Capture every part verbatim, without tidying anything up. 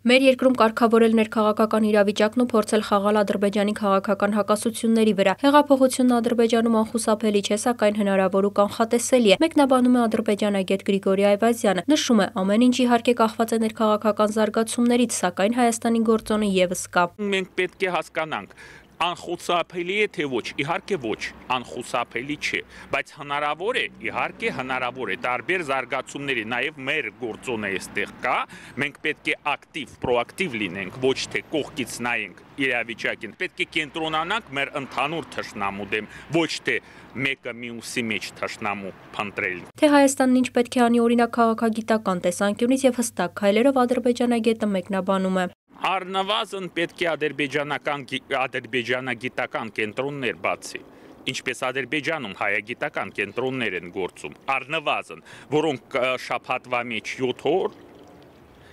Մեր երկրում կարգավորել ներքաղաքական իրավիճակն ու փորձել խաղալ Ադրբեջանի քաղաքական հակասությունների վրա։ Հեղափոխությունն Ադրբեջանում անխուսափելի չէ, սակայն հնարավոր ու կանխատեսելի է, մեկնաբանում է ադրբեջանագետ Գրիգորի Այվազյանը։ Նշում է, ամեն ինչ իհարկե կախված է ներքաղաքական զարգացումներից, սակայն Հայաստանի գործոնը ևս կա։ Մենք պետք է հասկանանք, անխուսափելի է թե ոչ, իհարկե ոչ, անխուսափելի չէ, բայց հնարավոր է, իհարկե հնարավոր է, տարբեր զարգացումների, նաև մեր գործոնը այստեղ կա, մենք պետք է ակտիվ, պրոակտիվ լինենք, ոչ թե կողքից նայենք իրավիճակին, պետք է կենտրոնանանք մեր ընդհանուր թշնամու դեմ, ոչ թե մեկը մյուսի մեջ թշնամու փնտրել։ Թե Հայաստանն ինչ պետք է անի օրինակ քաղաքագիտական տեսանկյունից եւ հստակ քայլերով ադրբեջանագետը մեկնաբանում է։ Առնվազն պետք է ադրբեջանական ադրբեջանագիտական կենտրոններ բացի, ինչպես Ադրբեջանում հայագիտական կենտրոններ են գործում, առնվազն, որոնք շաբաթվա մեջ յոթ օր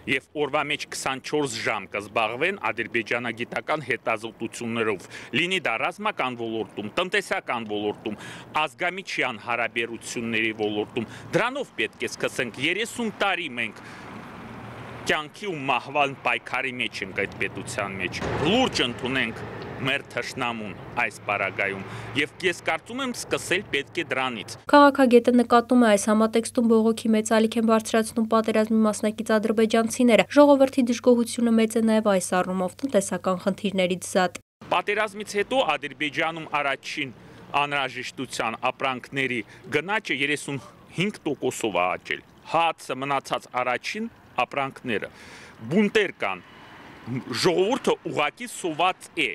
եւ օրվա մեջ քսանչորս ժամ կզբաղվեն ադրբեջանագիտական հետազոտություններով, լինի դա ռազմական ոլորտում, տնտեսական ոլորտում, ազգամիջյան հարաբերությունների ոլորտում, դրանով պետք է սկսենք երեսուն տարի մենք կյանքի ու մահվան պայքարի մեջ ենք այդ պետության մեջ, լուրջ ընդունենք մեր թշնամուն այս պարագայում եւ ես կարծում եմ սկսել պետք է դրանից։ Քաղաքագետը նկատում է այս համատեքստում բողոքի մեծ ալիք են բարձրացնում պատերազմի մասնակից ադրբեջանցիները, ժողովրդի դժգոհությունը մեծ է նաեւ այս առումով տնտեսական խնդիրներից զատ։ Պատերազմից հետո Ադրբեջանում առաջին անհրաժեշտության ապրանքների գնաճը երեսունհինգ տոկոսով է աճել, հացը մնացած առաջին ապրանքները, բունտեր կան, ժողովուրդը ուղղակի սոված է,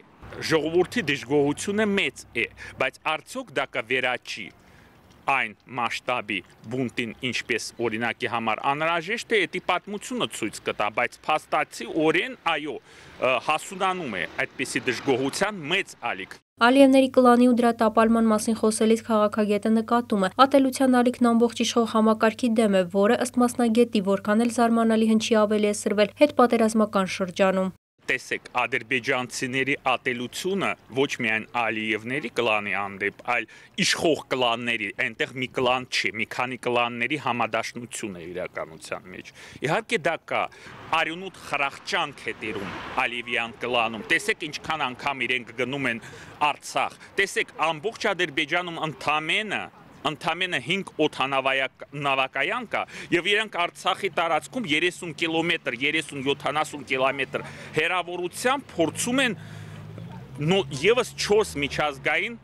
ժողովրդի դժգոհությունը մեծ է, բայց արդյոք դա կվերաճի այն մասշտաբի բունտին, ինչպես օրինակի համար անհրաժեշտ է, դա պատմությունը ցույց կտա, բայց փաստացի օրեն, այո, հասունանում է այդպիսի դժգոհության մեծ ալիք։ Ալիևների կլանի ու դրա տապալման մասին խոսելիս քաղաքագետը նկատում է, ատելության ալիքն ամբողջ իշխող համակարգի դեմ է, որը ըստ մասնագետի որքան էլ զարմանալի հնչի ավելի է սրվել հետպատերազմական շրջանում։ Տեսեք, ադրբեջանցիների ատելությունը ոչ միայն Ալիևների կլանի հանդեպ, այլ իշխող կլանների, այնտեղ մի կլան չի, մի քանի կլանների համադաշնություն է իրականության մեջ։ Իհարկե դա կա, արյունուտ խրախճանք է տիրում Ալիևյան կլանում։ Տեսեք ինչքան անգամ իրենք գնում են Արցախ։ Տեսեք, ամբողջ Ադրբեջանում ընդամենը Ընդամենը հինգ օդանավակայան կա եւ իրենք Արցախի տարածքում երեսուն կիլոմետր, երեսուն յոթանասուն կիլոմետր հեռավորությամբ փորձում են եւս չորս միջազգային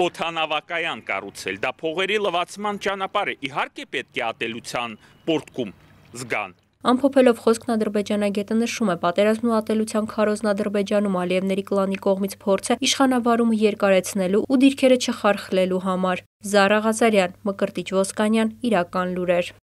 օդանավակայան կառուցել։ Դա փողերի լվացման ճանապարհ է։ Իհարկե պետք է ատելության պորտկում զգան։ Ամփոփելով խոսքն ադրբեջանագետը նշում է, պատերազմն ու ատելության քարոզն Ադրբեջանում Ալիևների կլանի կողմից փորձ է իշխանավարումը երկարեցնելու ու դիրքերը չխարխլելու համար։ Զարա Ղազարյան, Մկրտիչ Ոսկանյան, Իրական լուրեր։